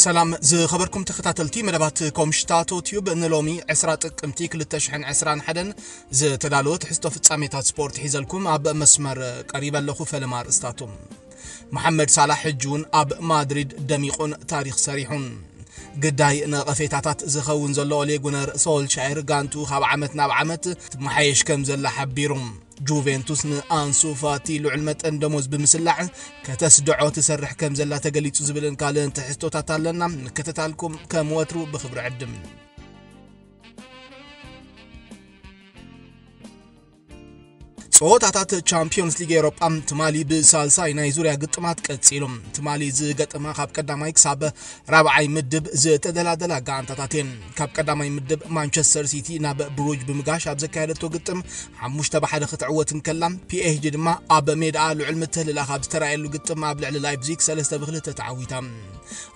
ሰላም ዝኸበርኩም ተኸታተልቲ መደባት ኮምሽታቶ ቲዩብ፣ ንሎሚ ዕስራ ጥቅምቲ ክልተ ሽሕን ዕስራን ሓደን ዝተዳለወ ትሕዝቶ ፍጻሜታት ስፖርት ሒዘልኩም ኣብ መስመር ቀሪበ ኣለኹ። ፈለማ ኣርእስታቱ። መሓመድ ሳላሕ ሕጂ እውን ኣብ ማድሪድ ደሚቑን ታሪኽ ሰሪሑን። ግዳይ ነቐፌታታት ዝኸውን ዘሎ ኦሌ ጉነር ሶልሻየር ጋንቱ ካብ ዓመት ናብ ዓመት ትመሓየሽ ከም ዘላ ሓቢሩ። ጁቬንቱስ ንኣንሱ ፋቲ ልዑል መጠን ደሞዝ ብምስላዕ ከተስድዖ ትሰርሕ ከም ዘላ ተገሊጹ ዝብልን ካልእን ትሕዝቶታት ኣለና። ምክትታልኩም ከም ወትሩ ብኽብሪ ዕድም። ጸወታታት ቻምፒዮንስ ሊግ ኤውሮጳ ትማሊ ብሳልሳይ ናይ ዙርያ ግጥማት ቀጺሉ። ትማሊ ዝገጠማ ካብ ቀዳማይ ክሳብ ራብዓይ ምድብ ዝተደላደላ ጋንታታት እየን። ካብ ቀዳማይ ምድብ ማንቸስተር ሲቲ ናብ ብሩጅ ብምጋሽ ኣብ ዘካየደቶ ግጥም ሓሙሽተ ብሓደ ክትዕወት እንከላ፣ ፒኤስጂ ድማ ኣብ ሜዳ ልዑል ምትህልላኽ ኣብ ዝተራእየሉ ግጥም ኣብ ልዕሊ ላይፕዚግ ሰለስተ ብክልተ ተዓዊታ።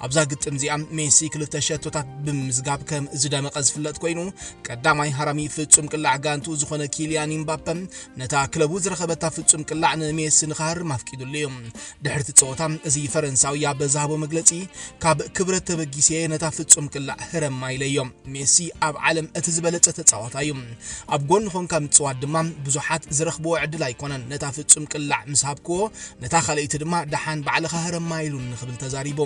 ኣብዛ ግጥም እዚኣ ሜሲ ክልተ ሸቶታት ብምምዝጋብ ከም ዝደመቐ ዝፍለጥ ኮይኑ፣ ቀዳማይ ሃራሚ ፍጹም ቅላዕ ጋንቱ ዝኾነ ኪልያን ኢምባፐ ነታ ክለቡ ዝረኸበታ ፍጹም ቅላዕ ንሜሲ ንኽሃርም ኣፍቂዱሉ እዩ። ድሕርቲ ጸወታ እዚ ፈረንሳዊ ኣብ ዝሃቦ መግለጺ፣ ካብ ክብረት ተበጊሰ ነታ ፍጹም ቅላዕ ህረማ ኢለዮ። ሜሲ ኣብ ዓለም እቲ ዝበለጸ ተጻዋታይ እዩ። ኣብ ጎኒ ኮንካ ምጽዋት ድማ ብዙሓት ዝረኽብዎ ዕድል ኣይኮነን። ነታ ፍጹም ቅላዕ ምስ ሃብክዎ፣ ነታ ካልኣይቲ ድማ ደሓን ባዕልኻ ህረማ ኢሉኒ ክብል ተዛሪቡ።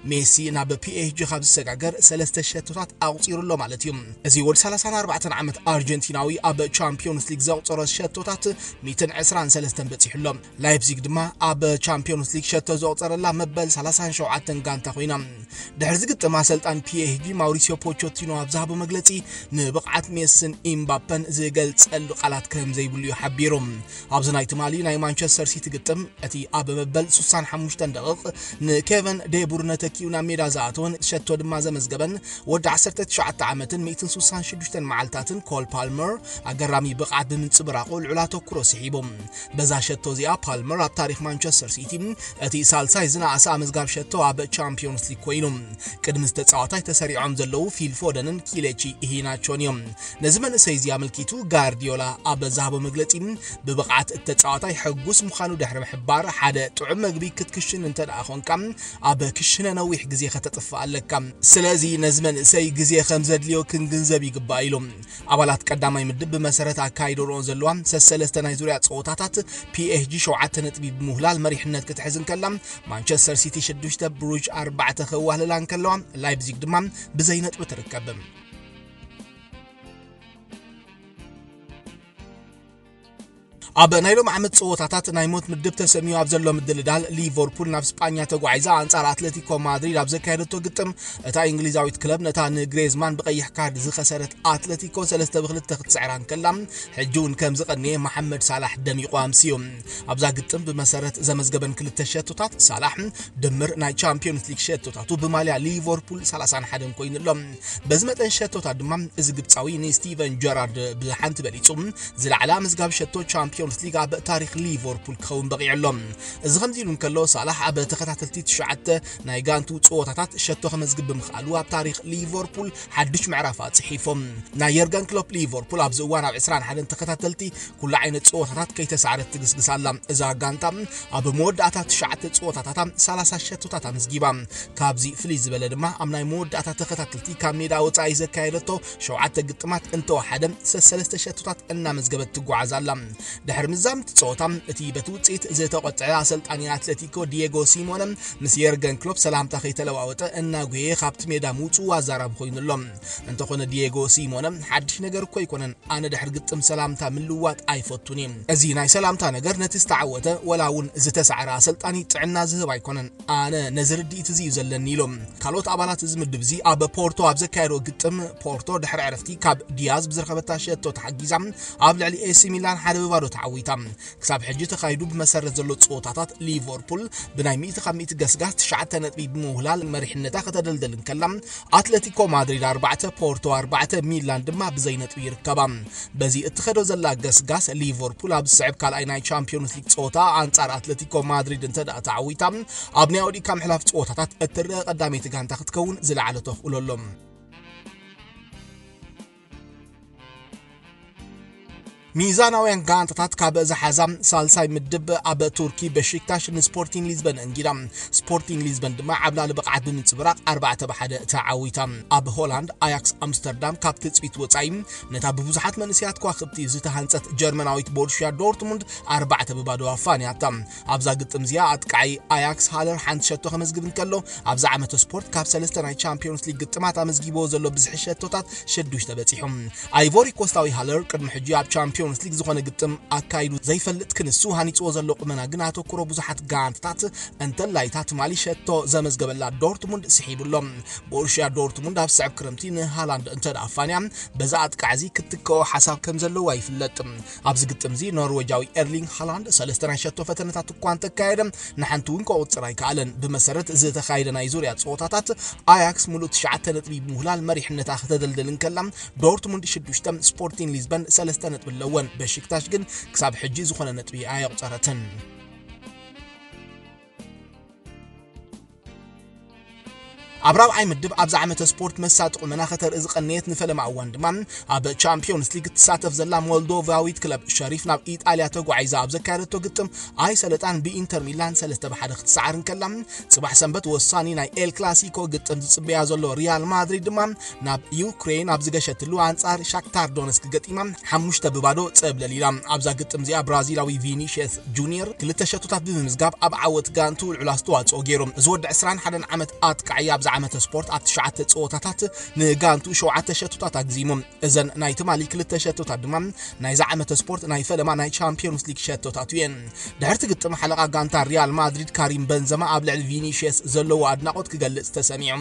ሜሲ ናብ ፒኤስጂ ካብ ዝሰጋገር ሰለስተ ሸቶታት ኣቑጺሩ ኣሎ ማለት እዩ። እዚ ወዲ ሰላሳን ኣርባዕተን ዓመት ኣርጀንቲናዊ ኣብ ቻምፒዮንስ ሊግ ዘቑጸሮ ሸቶታት ሚእትን ዕስራን ሰለስተን በጺሑ ኣሎ። ላይፕዚግ ድማ ኣብ ቻምፒዮንስ ሊግ ሸቶ ዘቑጸረላ መበል ሰላሳን ሸውዓተን ጋንታ ኮይና። ድሕሪ ዝግጥም ኣሰልጣን ፒኤስጂ ማውሪሲዮ ፖቾቲኖ ኣብ ዝሃቦ መግለጺ፣ ንብቕዓት ሜስን ኢምባፐን ዝገልጸሉ ቃላት ከም ዘይብሉ እዩ ሓቢሩ። ኣብዚ ናይ ትማሊ ናይ ማንቸስተር ሲቲ ግጥም፣ እቲ ኣብ መበል ሱሳን ሓሙሽተን ደቂቕ ንኬቨን ዴቡርነ ተኪኡ ናብ ሜዳ ዝኣተወን ሸቶ ድማ ዘመዝገበን ወዲ ዓሰርተ ትሽዓተ ዓመትን ሚእትን ሱሳን ሽዱሽተን መዓልታትን ኮል ፓልመር ኣገራሚ ብቕዓት ብምንጽብራቑ ልዑል ኣተኩሮ ስሒቡ። በዛ ሸቶ እዚኣ ፓልመር ኣብ ታሪኽ ማንቸስተር ሲቲ እቲ ሳልሳይ ዝነኣሰ ኣመዝጋብ ሸቶ ኣብ ቻምፒዮንስ ሊግ ኮይኑ። ቅድሚ ተጻዋታይ ተሰሪዖም ዘለዉ ፊል ፎደንን ኪሌቺ ኢሂናቾን እዮም። ነዚ መንእሰይ እዚ ኣመልኪቱ ጋርዲዮላ ኣብ ዝሃቦ መግለጺ፣ ብብቕዓት እቲ ተጻዋታይ ሕጉስ ምዃኑ ድሕሪ ምሕባር፣ ሓደ ጥዑም መግቢ ክትክሽን እንተ ደኣ ኾንካ፣ ኣብ ክሽነ ነዊሕ ግዜ ከተጥፍእ ኣለካ። ስለዚ ነዚ መንእሰይ ግዜ ከም ዘድልዮ ክንግንዘብ ይግባእ ኢሉ። ኣባላት ቀዳማይ ምድብ ብመሰረት ኣካይደርኦን ዘለዋ ሰሰለስተ ናይ ዙርያ ጸወታታት ፒኤስጂ ሸውዓተ ነጥቢ ብምውህላል መሪሕነት ክትሕዝ እንከላ፣ ማንቸስተር ሲቲ ሽዱሽተ፣ ብሩጅ ኣርባዕተ ከዋህልላ እንከለዋ፣ ላይፕዚግ ድማ ብዘይ ነጥቢ ትርከብ። ኣብ ናይ ሎም ዓመት ጸወታታት ናይ ሞት ምድብ ተሰሚዩ ኣብ ዘሎ ምድልዳል፣ ሊቨርፑል ናብ ስጳኛ ተጓዒዛ ኣንጻር ኣትሌቲኮ ማድሪድ ኣብ ዘካየደቶ ግጥም፣ እታ እንግሊዛዊት ክለብ ነታ ንግሬዝማን ብቐይሕ ካርድ ዝኸሰረት ኣትሌቲኮ ሰለስተ ብክልተ ክትስዕራ እንከላ፣ ሕጂ እውን ከም ዝቐንየ መሓመድ ሳላሕ ደሚቑ ኣምስዩ። ኣብዛ ግጥም ብመሰረት ዘመዝገበን ክልተ ሸቶታት ሳላሕ ድምር ናይ ቻምፒዮንስ ሊግ ሸቶታቱ ብማልያ ሊቨርፑል ሰላሳን ሓደን ኮይኑ ኣሎ። በዚ መጠን ሸቶታት ድማ እዚ ግብጻዊ ንስቲቨን ጀራርድ ብሓንቲ በሊጹ ዝለዓለ ምዝጋብ ሸቶ ቻምፒዮንስ ሊግ ኣብ ታሪኽ ሊቨርፑል ክኸውን በቒዑ ኣሎ። እዚ ከምዚ ኢሉ እንከሎ ሳላሕ ኣብ ተኸታተልቲ ትሽዓተ ናይ ጋንቱ ጸወታታት ሸቶ ከመዝግብ ብምኽኣሉ ኣብ ታሪኽ ሊቨርፑል ሓድሽ ምዕራፍ ኣጽሒፎም። ናይ የርገን ክሎፕ ሊቨርፑል ኣብዚ እዋን ኣብ ዕስራን ሓደን ተኸታተልቲ ኩሉ ዓይነት ጸወታታት ከይተሳዕረት ትግስግስ ኣላ። እዛ ጋንታ ኣብ መወዳእታ ትሽዓተ ጸወታታታ ሰላሳ ሸቶታት ኣመዝጊባ። ካብዚ ፍልይ ዝበለ ድማ ኣብ ናይ መወዳእታ ተኸታተልቲ ካብ ሜዳ ወጻኢ ዘካየደቶ ሸውዓተ ግጥማት እንተወሓደ ሰሰለስተ ሸቶታት እናመዝገበት ትጓዓዝ ኣላ። ድሕሪ ምዛምቲ ጸወታ እቲ በቲ ውጽኢት ዝተቖጥዐ ኣሰልጣኒ ኣትሌቲኮ ዲየጎ ሲሞነ ምስ የርገን ክሎፕ ሰላምታ ከይተለዋወጠ እናጉየየ ካብቲ ሜዳ ምውጽኡ ኣዛራቢ ኮይኑ ኣሎ። እንተኾነ ዲየጎ ሲሞነ ሓድሽ ነገር እኮ ኣይኮነን፣ ኣነ ድሕሪ ግጥም ሰላምታ ምልዋጥ ኣይፈቱን እየ። እዚ ናይ ሰላምታ ነገር ነቲ ዝተዓወተ ወላ እውን ዝተሳዕረ ኣሰልጣኒ ጥዕና ዝህብ ኣይኮነን። ኣነ ነዚ ርድኢት እዚ እዩ ዘለኒ ኢሎም። ካልኦት ኣባላት እዚ ምድብ እዚ ኣብ ፖርቶ ኣብ ዘካየዶ ግጥም ፖርቶ ድሕሪ ዕረፍቲ ካብ ዲያዝ ብዝረኸበታ ሸቶ ተሓጊዛ ኣብ ልዕሊ ኤሲ ሚላን ሓደ ብባዶ ተዓዊታ። ክሳብ ሕጂ ተኻይዱ ብመሰረት ዘሎ ጸወታታት ሊቨርፑል ብናይ ሚእቲ ካብ ሚእቲ ገስጋስ ትሽዓተ ነጥቢ ብምውህላል መሪሕነታ ከተደልደል እንከላ፣ ኣትሌቲኮ ማድሪድ ኣርባዕተ፣ ፖርቶ ኣርባዕተ፣ ሚላን ድማ ብዘይ ነጥቢ ይርከባ። በዚ እትኸዶ ዘላ ገስጋስ ሊቨርፑል ኣብ ዝስዕብ ካልኣይ ናይ ቻምፒዮንስ ሊግ ጸወታ ኣንጻር ኣትሌቲኮ ማድሪድ እንተ ደኣ ተዓዊታ፣ ኣብ ናይ ኣውዲካ ምሕላፍ ጸወታታት እትረአ ቀዳመይቲ ጋንታ ክትከውን ዝለዓለ ተኽእሎ ኣሎ። ሚዛናውያን ጋንታታት ካብ ዝሓዛ ሳልሳይ ምድብ ኣብ ቱርኪ በሺክታሽ ንስፖርቲንግ ሊዝበን እንጊዳ። ስፖርቲንግ ሊዝበን ድማ ዓብላሊ ብቕዓት ብምንጽብራቕ ኣርባዕተ ብ ሓደ ተዓዊታ። ኣብ ሆላንድ ኣያክስ ኣምስተርዳም ካብ ትጽቢት ወጻኢ ነታ ብብዙሓት መንእሰያት ከዋኽብቲ ዝተሃንጸት ጀርመናዊት ቦሩሽያ ዶርትሙንድ ኣርባዕተ ብ ባዶ ኣፋንያታ። ኣብዛ ግጥም እዚኣ ኣጥቃዓይ ኣያክስ ሃለር ሓንቲ ሸቶ ከመዝግብ እንከሎ፣ ኣብዚ ዓመተ ስፖርት ካብ ሰለስተ ናይ ቻምፒዮንስ ሊግ ግጥማት ኣመዝጊብዎ ዘሎ ብዝሒ ሸቶታት ሽዱሽተ በጺሑ። ኣይቮሪ ኮስታዊ ሃለር ቅድሚ ሕጂ ኣብ ቻምፒዮንስ ሊግ ዝኾነ ግጥም ኣካይዱ ዘይፈልጥ ክንሱ፣ ሃኒጽዎ ዘሎ ቁመና ግን ኣተኩሮ ብዙሓት ጋንታታት እንተላይ እታ ትማሊ ሸቶ ዘመዝገበላ ዶርትሙንድ ስሒቡ ኣሎ። ቦሩሽያ ዶርትሙንድ ኣብ ስዕብ ክረምቲ ንሃላንድ እንተ ደኣ ኣፋንያ፣ በዚ ኣጥቃዕ እዚ ክትትክኦ ሓሳብ ከም ዘለዋ ይፍለጥ። ኣብዚ ግጥም እዚ ኖርዌጃዊ ኤርሊንግ ሃላንድ ሰለስተ ናይ ሸቶ ፈተነታት እኳ እንተካየደ፣ ንሓንቲ እውን ከቑጽር ኣይከኣለን። ብመሰረት ዝተኻየደ ናይ ዙርያ ጸወታታት፣ ኣያክስ ሙሉእ ትሽዓተ ነጥቢ ብምውላል መሪሕነታ ከተደልድል እንከላ፣ ዶርትሙንድ ሽዱሽተ፣ ስፖርቲንግ ሊዝበን ሰለስተ ነጥቢ ኣለወን። በሺክታሽ ግን ክሳብ ሕጂ ዝኾነ ነጥቢ ኣየቑጸረትን። ኣብ ራብዓይ ምድብ ኣብዚ ዓመተ ስፖርት መሳጢ ቁመና ከተርኢ ዝቐነየት ንፈለማ እዋን ድማ ኣብ ቻምፒዮንስ ሊግ ትሳተፍ ዘላ ሞልዶቫዊት ክለብ ሸሪፍ ናብ ኢጣልያ ተጓዒዛ ኣብ ዘካየደቶ ግጥም ኣይሰለጣን ብኢንተር ሚላን ሰለስተ ብ ሓደ ክትሰዓር እንከላ፣ ጽባሕ ሰንበት ወሳኒ ናይ ኤል ክላሲኮ ግጥም ዝጽበያ ዘሎ ሪያል ማድሪድ ድማ ናብ ዩክሬን ኣብ ዝገሸትሉ ኣንጻር ሻክታር ዶነስክ ገጢማ ሓሙሽተ ብ ባዶ ጸብለል ኢላ። ኣብዛ ግጥም እዚኣ ብራዚላዊ ቪኒሽየስ ጁኒየር ክልተ ሸቶታት ብምምዝጋብ ኣብ ዓወት ጋንቱ ልዑል ኣስተዋጽኦ ገይሩ። እዚ ወዲ ዕስራን ሓደን ዓመት ኣጥቃዒ ኣብዚ ዓመተ ስፖርት ኣብ ትሽዓተ ጸወታታት ንጋንቱ ሸውዓተ ሸቶታት ኣግዚሙ። እዘን ናይ ትማሊ ክልተ ሸቶታት ድማ ናይዚ ዓመተ ስፖርት ናይ ፈለማ ናይ ቻምፒዮንስ ሊግ ሸቶታት እየን። ድሕርቲ ግጥም ሓለቓ ጋንታ ሪያል ማድሪድ ካሪም በንዘማ ኣብ ልዕሊ ቪኒሽየስ ዘለዎ ኣድናቖት ክገልጽ ተሰሚዑ።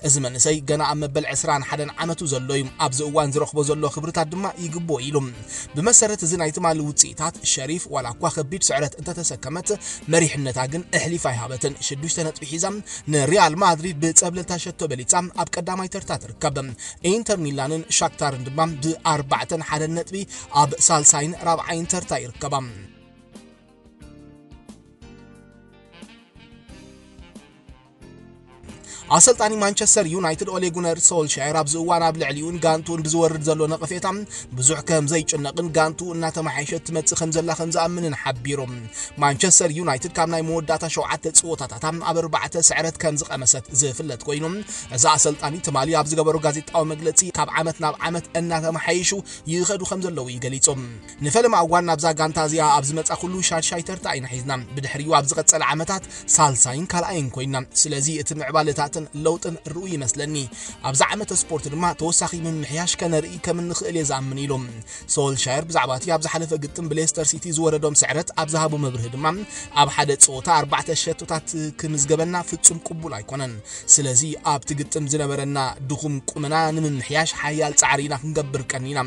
እዚ መንእሰይ ገና ኣብ መበል ዕስራን ሓደን ዓመቱ ዘሎ እዩ። ኣብዚ እዋን ዝረኽቦ ዘሎ ክብርታት ድማ ይግብኦ ኢሉ። ብመሰረት እዚ ናይ ትማሊ ውጽኢታት፣ ሸሪፍ ዋላ እኳ ከቢድ ስዕረት እንተተሰከመት፣ መሪሕነታ ግን ኣሕሊፋ ኣይሃበትን። ሽዱሽተ ነጥቢ ሒዛ ንሪያል ማድሪድ ብጸብለልታ ሸቶ በሊጻ ኣብ ቀዳማይ ተርታ ትርከብ። ኢንተር ሚላንን ሻክታርን ድማ ብኣርባዕተን ሓደን ነጥቢ ኣብ ሳልሳይን ራብዓይን ተርታ ይርከባ። ኣሰልጣኒ ማንቸስተር ዩናይትድ ኦሌ ጉነር ሶልሻየር ኣብዚ እዋን ኣብ ልዕሊኡን ጋንቱን ብዝወርድ ዘሎ ነቐፌታ ብዙሕ ከም ዘይጭነቕን ጋንቱ እናተመሓየሸት ትመጽእ ከም ዘላ ከም ዝኣምንን ሓቢሩ። ማንቸስተር ዩናይትድ ካብ ናይ መወዳእታ ሸውዓተ ጸወታታታ ኣብ ኣርባዕተ ስዕረት ከም ዝቐመሰት ዝፍለጥ ኮይኑ፣ እዚ ኣሰልጣኒ ትማሊ ኣብ ዝገበሮ ጋዜጣዊ መግለጺ ካብ ዓመት ናብ ዓመት እናተመሓየሹ ይኸዱ ከም ዘለዉ እዩ ገሊጹ። ንፈለማ እዋን ናብዛ ጋንታ እዚኣ ኣብ ዝመጻ ኩሉ ሻድሻይ ተርታ ኢና ሒዝና። ብድሕሪኡ ኣብ ዝቐጸለ ዓመታት ሳልሳይን ካልኣይን ኮይና። ስለዚ እቲ ምዕባለታትን ለውጥን ርኡ ይመስለኒ። ኣብዚ ዓመተ ስፖርት ድማ ተወሳኺ ምምሕያሽ ከነርኢ ከም እንኽእል እየ ዝኣምን ኢሉ። ሶልሻየር ብዛዕባ እቲ ኣብ ዝሓለፈ ግጥም ብሌስተር ሲቲ ዝወረዶም ስዕረት ኣብ ዝሃቦ መብርሂ ድማ፣ ኣብ ሓደ ጸወታ ኣርባዕተ ሸቶታት ክምዝገበና ፍጹም ቅቡል ኣይኮነን። ስለዚ ኣብቲ ግጥም ዝነበረና ድኹም ቁመና ንምምሕያሽ ሓያል ጻዕሪ ኢና ክንገብር ቀኒና።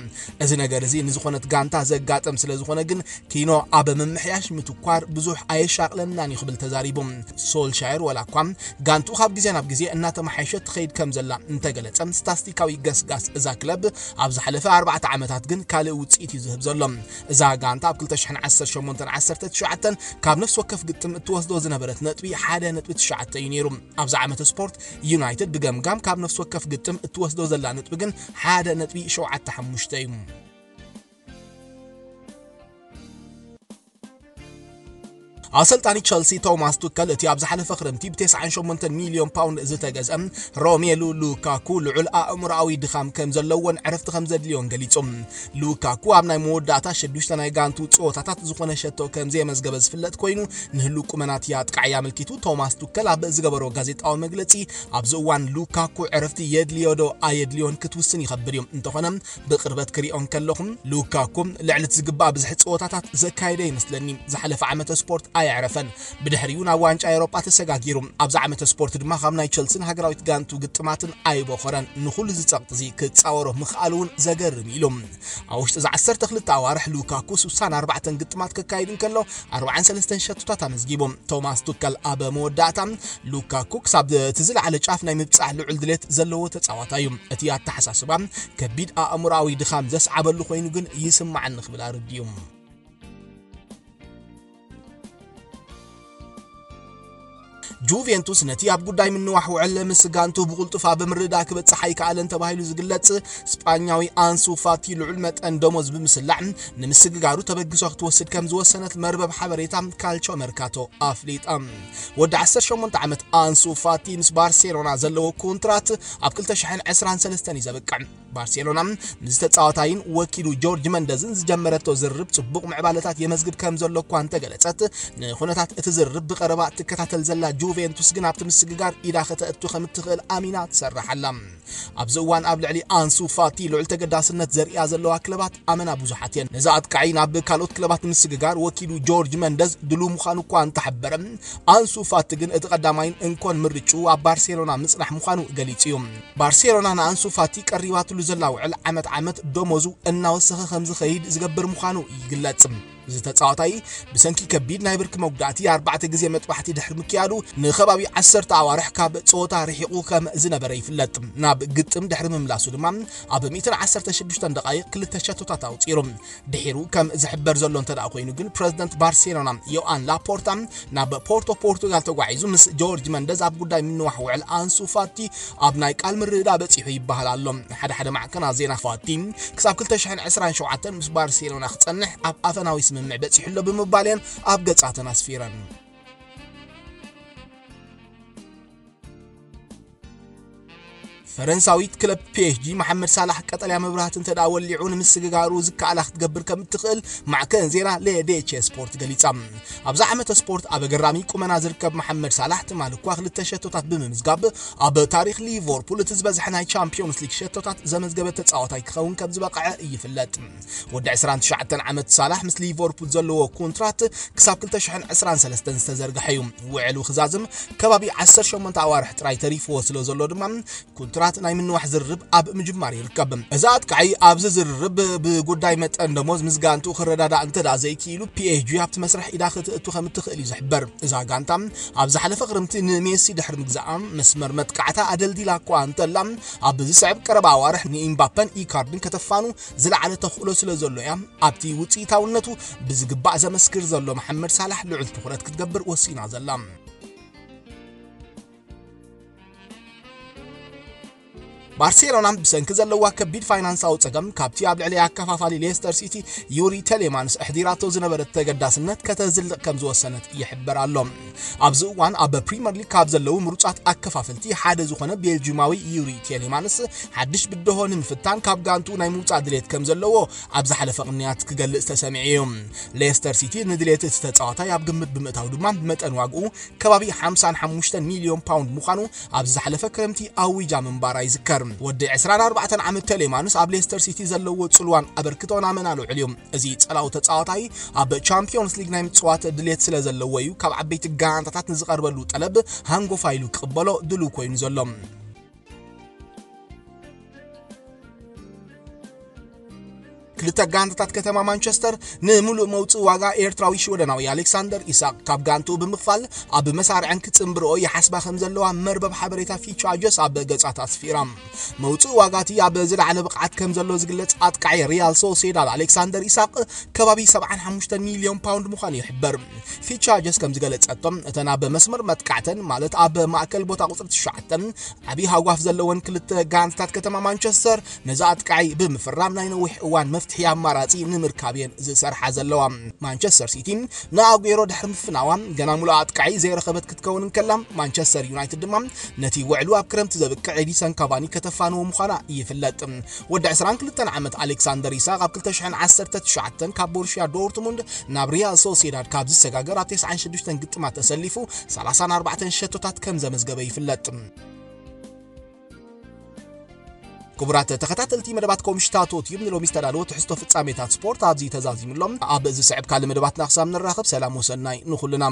እዚ ነገር እዚ ንዝኾነት ጋንታ ዘጋጥም ስለ ዝኾነ ግን ኪኖ ኣብ ምምሕያሽ ምትኳር ብዙሕ ኣየሻቕለናን እዩ ክብል ተዛሪቡ። ሶልሻየር ወላ እኳ ጋንቱ ካብ ግዜ ናብ ግዜ እናተመሓየሸት ትኸይድ ከም ዘላ እንተገለጸ፣ ስታስቲካዊ ገስጋስ እዛ ክለብ ኣብ ዝሓለፈ ኣርባዕተ ዓመታት ግን ካልእ ውጽኢት እዩ ዝህብ ዘሎ። እዛ ጋንታ ኣብ ክልተ ሽሕን ዓሰርተ ሸሞንተን ዓሰርተ ትሽዓተን ካብ ነፍሲ ወከፍ ግጥም እትወስዶ ዝነበረት ነጥቢ ሓደ ነጥቢ ትሽዓተ እዩ ነይሩ። ኣብዚ ዓመተ ስፖርት ዩናይትድ ብገምጋም ካብ ነፍሲ ወከፍ ግጥም እትወስዶ ዘላ ነጥቢ ግን ሓደ ነጥቢ ሸውዓተ ሓሙሽተ እዩ። ኣሰልጣኒ ቸልሲ ቶማስ ቱከል እቲ ኣብ ዝሓለፈ ክረምቲ ብ ተስዓን ሸሞንተን ሚልዮን ፓውንድ ዝተገዝአ ሮሜሉ ሉካኩ ልዑል ኣእምሮኣዊ ድኻም ከም ዘለዎን ዕረፍቲ ከም ዘድልዮን ገሊጹ። ሉካኩ ኣብ ናይ መወዳእታ ሽዱሽተ ናይ ጋንቱ ጸወታታት ዝኾነ ሸቶ ከም ዘየመዝገበ ዝፍለጥ ኮይኑ፣ ንህሉ ቁመናት ኣጥቃዒ ኣመልኪቱ ቶማስ ቱከል ኣብ ዝገበሮ ጋዜጣዊ መግለጺ፣ ኣብዚ እዋን ሉካኩ ዕረፍቲ የድልዮ ዶ ኣየድልዮን ክትውስን ይኸብድ እዩ። እንተኾነ ብቕርበት ክሪኦ እንከለኹ፣ ሉካኩ ልዕሊ እቲ ዝግባእ ብዝሒ ጸወታታት ዘካየደ ይመስለኒ። ዝሓለፈ ዓመተ ስፖርት ኣየዕረፈን። ብድሕሪኡ ናብ ዋንጫ ኤውሮጳ ተሰጋጊሩ። ኣብዚ ዓመተ ስፖርት ድማ ካብ ናይ ቸልስን ሃገራዊት ጋንቱ ግጥማትን ኣይቦኸረን። ንኹሉ እዚ ጸቕጢ እዚ ክጻወሮ ምኽኣሉ እውን ዘገርም እዩ ኢሉ። ኣብ ውሽጢ እዚ ዓሰርተ ክልተ ኣዋርሕ ሉካኩ ስሳን ኣርባዕተን ግጥማት ከካይድ እንከሎ፣ ኣርባዓን ሰለስተን ሸቶታት ኣመዝጊቡ። ቶማስ ቱከል ኣብ መወዳእታ፣ ሉካኩ ክሳብ እቲ ዝለዓለ ጫፍ ናይ ምብጻሕ ልዑል ድሌት ዘለዎ ተጻዋታይ እዩ። እቲ ኣተሓሳስባ ከቢድ ኣእምሮኣዊ ድኻም ዘስዓበሉ ኮይኑ ግን ይስማዓኒ ክብል ኣረዲኡ። ጁቬንቱስ ነቲ ኣብ ጉዳይ ምንዋሕ ውዕል ምስ ጋንቱ ብቕልጡፍ ኣብ ምርዳእ ክበጽሕ ኣይከኣለን ተባሂሉ ዝግለጽ ስጳኛዊ ኣንሱ ፋቲ ልዑል መጠን ደሞዝ ብምስላዕ ንምስግጋሩ ተበግሶ ክትወስድ ከም ዝወሰነት መርበብ ሓበሬታ ካልቾ መርካቶ ኣፍሊጣ። ወዲ ዓሰርተ ሸሞንተ ዓመት ኣንሱ ፋቲ ምስ ባርሴሎና ዘለዎ ኮንትራት ኣብ ክልተ ሽሕን ዕስራን ሰለስተን እዩ ዘብቅዕ። ባርሴሎና ምስ ተጻዋታይን ወኪሉ ጆርጅ መንደዝን ዝጀመረቶ ዝርርብ ጽቡቕ ምዕባለታት የመዝግብ ከም ዘሎ እኳ እንተገለጸት፣ ንኹነታት እቲ ዝርርብ ብቐረባ ትከታተል ዘላ ጁቬንቱስ ግን ኣብቲ ምስግጋር ኢዳ ከተእቱ ከም እትኽእል ኣሚና ትሰርሕ ኣላ። ኣብዚ እዋን ኣብ ልዕሊ ኣንሱ ፋቲ ልዑል ተገዳስነት ዘርእያ ዘለዋ ክለባት ኣመና ብዙሓት እየን። ነዚ ኣጥቃዒ ናብ ካልኦት ክለባት ንምስግጋር ወኪሉ ጆርጅ መንደዝ ድሉው ምዃኑ እኳ እንተሓበረ፣ ኣንሱ ፋቲ ግን እቲ ቀዳማይን እንኮን ምርጭኡ ኣብ ባርሴሎና ምጽናሕ ምዃኑ ገሊጹ እዩ። ባርሴሎና ንኣንሱ ፋቲ ቀሪባትሉ ዘላ ውዕል ዓመት ዓመት ደሞዙ እናወሰኸ ከም ዝኸይድ ዝገብር ምዃኑ ይግለጽ። እዚ ተጻዋታይ ብሰንኪ ከቢድ ናይ ብርኪ መጉዳእቲ ኣርባዕተ ግዜ መጥባሕቲ ድሕሪ ምክያዱ ንከባቢ ዓሰርተ ኣዋርሕ ካብ ጸወታ ርሒቑ ከም ዝነበረ ይፍለጥ። ናብ ግጥም ድሕሪ ምምላሱ ድማ ኣብ ሚእትን ዓሰርተ ሽዱሽተን ደቓይቕ ክልተ ሸቶታት ኣውጺሩ። ድሒሩ ከም ዝሕበር ዘሎ እንተ ደኣ ኮይኑ ግን ፕረዚደንት ባርሴሎና ዮኣን ላፖርታ ናብ ፖርቶ ፖርቱጋል ተጓዒዙ ምስ ጆርጅ መንደዝ ኣብ ጉዳይ ምንዋሕ ውዕል ኣንሱ ፋቲ ኣብ ናይ ቃል ምርድዳእ በጺሑ ይበሃል ኣሎ። ሓደ ሓደ ማዕከናት ዜና ፋቲ ክሳብ ክልተ ሽሕን ዕስራን ሸውዓተን ምስ ባርሴሎና ክጸንሕ ኣብ ኣፈናዊ ስምምዕ በጺሑ ኣሎ ብምባል እየን ኣብ ገጻተን ኣስፊረን። ፈረንሳዊት ክለብ ፒ ኤስ ጂ መሓመድ ሳላሕ ቀጠልያ መብራህቲ እንተ ደኣ ወሊዑ ንምስግጋሩ ዝከኣላ ክትገብር ከም እትኽእል ማዕከን ዜና ሌዴቼ ስፖርት ገሊጻ። ኣብዚ ዓመተ ስፖርት ኣብ ኣገራሚ ቁመና ዝርከብ መሓመድ ሳላሕ ትማሊ እኳ ክልተ ሸቶታት ብምምዝጋብ ኣብ ታሪኽ ሊቨርፑል እቲ ዝበዝሐ ናይ ቻምፒዮንስ ሊግ ሸቶታት ዘመዝገበ ተጻዋታይ ክኸውን ከም ዝበቕዐ ይፍለጥ። ወዲ ዕስራን ትሽዓተን ዓመት ሳላሕ ምስ ሊቨርፑል ዘለዎ ኮንትራት ክሳብ ክልተ ሽሕን ዕስራን ሰለስተን ዝተዘርግሐ እዩ። ውዕሉ ክዛዝም ከባቢ ዓሰርተ ሸሞንተ ኣዋርሕ ጥራይ ተሪፍዎ ስለ ዘሎ ድማ ኮንትራት ናይ ምንዋሕ ዝርርብ ኣብ ምጅማር ይርከብ። እዚ ኣጥቃዒ ኣብዚ ዝርርብ ብጉዳይ መጠን ደሞዝ ምስ ጋንቱ ክረዳዳእ እንተ ደኣ ዘይክኢሉ፣ ፒ ኤስ ጂ ኣብቲ መስርሕ ኢዳ ክትእቱ ከም እትኽእል እዩ ዝሕበር። እዛ ጋንታ ኣብ ዝሓለፈ ክረምቲ ንሜሲ ድሕሪ ምግዛኣ መስመር መጥቃዕታ ኣደልዲላ እኳ እንተላ፣ ኣብ ዝስዕብ ቀረባ ኣዋርሕ ንኢምባፐን ኢካርድን ከተፋኑ ዝለዓለ ተኽእሎ ስለ ዘሎ እያ ኣብቲ ውጽኢታውነቱ ብዝግባእ ዘመስክር ዘሎ መሓመድ ሳላሕ ልዑል ትኹረት ክትገብር ወሲና ዘላ። ባርሴሎና ብሰንኪ ዘለዋ ከቢድ ፋይናንሳዊ ጸገም ካብቲ ኣብ ልዕሊ ኣከፋፋሊ ሌስተር ሲቲ ዩሪ ቴሌማንስ ኣሕዲራቶ ዝነበረት ተገዳስነት ከተዝልቕ ከም ዝወሰነት ይሕበር ኣሎ። ኣብዚ እዋን ኣብ ፕሪምየር ሊግ ካብ ዘለዉ ምሩጻት ኣከፋፈልቲ ሓደ ዝኾነ ቤልጂማዊ ዩሪ ቴሌማንስ ሓድሽ ብድሆ ንምፍታን ካብ ጋንቱ ናይ ምውጻእ ድሌት ከም ዘለዎ ኣብ ዝሓለፈ ቅንያት ክገልጽ ተሰሚዑ እዩ። ሌስተር ሲቲ ንድሌት እቲ ተጻዋታይ ኣብ ግምት ብምእታው ድማ መጠን ዋግኡ ከባቢ ሓምሳን ሓሙሽተን ሚልዮን ፓውንድ ምዃኑ ኣብ ዝሓለፈ ክረምቲ ኣዊጃ ምንባራ ይዝከር። ወዲ ዕስራን ኣርባዕተን ዓመት ቴሌማንስ ኣብ ሌስተር ሲቲ ዘለዎ ጽልዋን ኣበርክቶን ኣመና ልዑል እዩ። እዚ ጸላው ተጻዋታይ ኣብ ቻምፒዮንስ ሊግ ናይ ምጽዋት ድሌት ስለ ዘለዎ እዩ ካብ ዓበይቲ ጋንታታት ንዝቐርበሉ ጠለብ ሃንጎፋ ኢሉ ክቕበሎ ድሉው ኮይኑ ዘሎ። ክልተ ጋንታታት ከተማ ማንቸስተር ንምሉእ መውጽኢ ዋጋ ኤርትራዊ ሽወደናዊ ኣሌክሳንደር ኢሳቅ ካብ ጋንቱ ብምኽፋል ኣብ መሳርዐን ክጽንብርኦ ይሓስባ ከም ዘለዋ መርበብ ሓበሬታ ፊቻ ጀስ ኣብ ገጻት ኣስፊራ። መውጽኢ ዋጋቲ ኣብ ዝለዓለ ብቕዓት ከም ዘሎ ዝግለጽ ኣጥቃዒ ሪያል ሶሴዳድ ኣሌክሳንደር ኢሳቅ ከባቢ ሰብዓን ሓሙሽተን ሚልዮን ፓውንድ ምዃኑ ይሕበር። ፊቻ ጀስ ከም ዝገለጸቶም እተን ኣብ መስመር መጥቃዕተን ማለት ኣብ ማእከል ቦታ ቁጽሪ ትሽዓተ ዓቢ ሃጓፍ ዘለወን ክልተ ጋንታታት ከተማ ማንቸስተር ነዚ ኣጥቃዒ ብምፍራም ናይ ነዊሕ እዋን መፍትሒ ኣማራጺ ንምርካብ እየን ዝሰርሓ ዘለዋ። ማንቸስተር ሲቲ ንኣጉዌሮ ድሕሪ ምፍናዋ ገና ሙሉእ ኣጥቃዒ ዘይረኸበት ክትከውን እንከላ፣ ማንቸስተር ዩናይትድ ድማ ነቲ ውዕሉ ኣብ ክረምቲ ዘብቅዕ ኤዲሰን ካቫኒ ከተፋንዎ ምዃና ይፍለጥ። ወዲ ዕስራን ክልተን ዓመት ኣሌክሳንደር ኢሳቅ ኣብ ክልተ ሽሕን ዓሰርተ ትሽዓተን ካብ ቦሩሽያ ዶርትሙንድ ናብ ሪያል ሶሲዳድ ካብ ዝሰጋገር ኣብ ተስዓን ሽዱሽተን ግጥማት ተሰሊፉ ሰላሳን ኣርባዕተን ሸቶታት ከም ዘመዝገበ ይፍለጥ። ክቡራት ተኸታተልቲ መደባት ኮምሽታቶት እዩ ንሎሚ ዝተዳለወ ትሕዝቶ ፍጻሜታት ስፖርት ኣብዚ ተዛዚሙ ኣሎ። ኣብ ዝስዕብ ካልእ መደባትና ክሳብ ንራኸብ ሰላም ወሰናይ ንኹልና።